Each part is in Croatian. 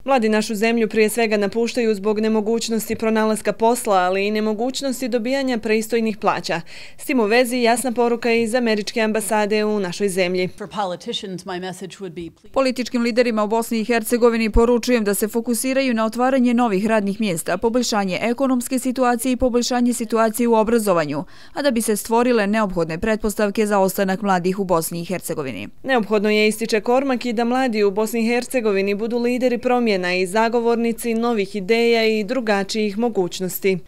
Mladi našu zemlju prije svega napuštaju zbog nemogućnosti pronalaska posla, ali i nemogućnosti dobijanja pristojnih plaća. S tim u vezi jasna poruka je iz američke ambasade u našoj zemlji. Političkim liderima u Bosni i Hercegovini poručujem da se fokusiraju na otvaranje novih radnih mjesta, poboljšanje ekonomske situacije i poboljšanje situacije u obrazovanju, a da bi se stvorile neophodne pretpostavke za ostanak mladih u Bosni i Hercegovini. Neophodno je, ističe Kormak, i da mladi u Bosni i Hercegovini budu lideri promjena i zagovornici novih ideja i drugačijih mogućnosti.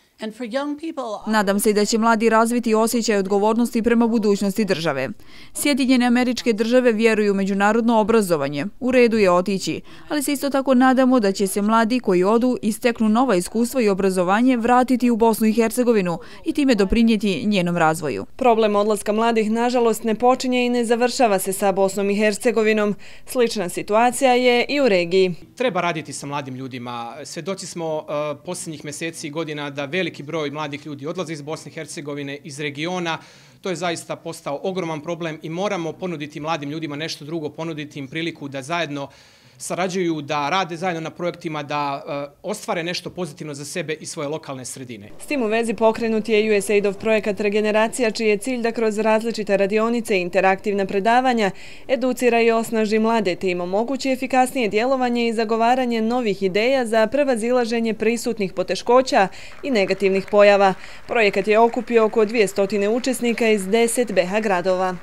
Nadam se i da će mladi razviti osjećaj odgovornosti prema budućnosti države. Sjedinjene Američke Države vjeruju u međunarodno obrazovanje. U redu je otići, ali se isto tako nadamo da će se mladi koji odu i steknu nova iskustva i obrazovanje vratiti u Bosnu i Hercegovinu i time doprinijeti njenom razvoju. Problem odlaska mladih, nažalost, ne počinje i ne završava se sa Bosnom i Hercegovinom. Slična situacija je i u regiji. Treba raditi sa mladim ljudima. Svjedoci smo posljednjih mjeseci i godina da veliki broj mladih ljudi odlazi iz Bosne i Hercegovine, iz regiona. To je zaista postao ogroman problem i moramo ponuditi mladim ljudima nešto drugo, ponuditi im priliku da zajedno sarađuju, da rade zajedno na projektima, da ostvare nešto pozitivno za sebe i svoje lokalne sredine. S tim u vezi pokrenut je USAID-ov projekat Regeneracija, čiji je cilj da kroz različite radionice i interaktivna predavanja educira i osnaži mlade, te im omogući efikasnije djelovanje i zagovaranje novih ideja za prevazilaženje prisutnih poteškoća i negativnih pojava. Projekat je okupio oko 200 učesnika iz 10 BH gradova.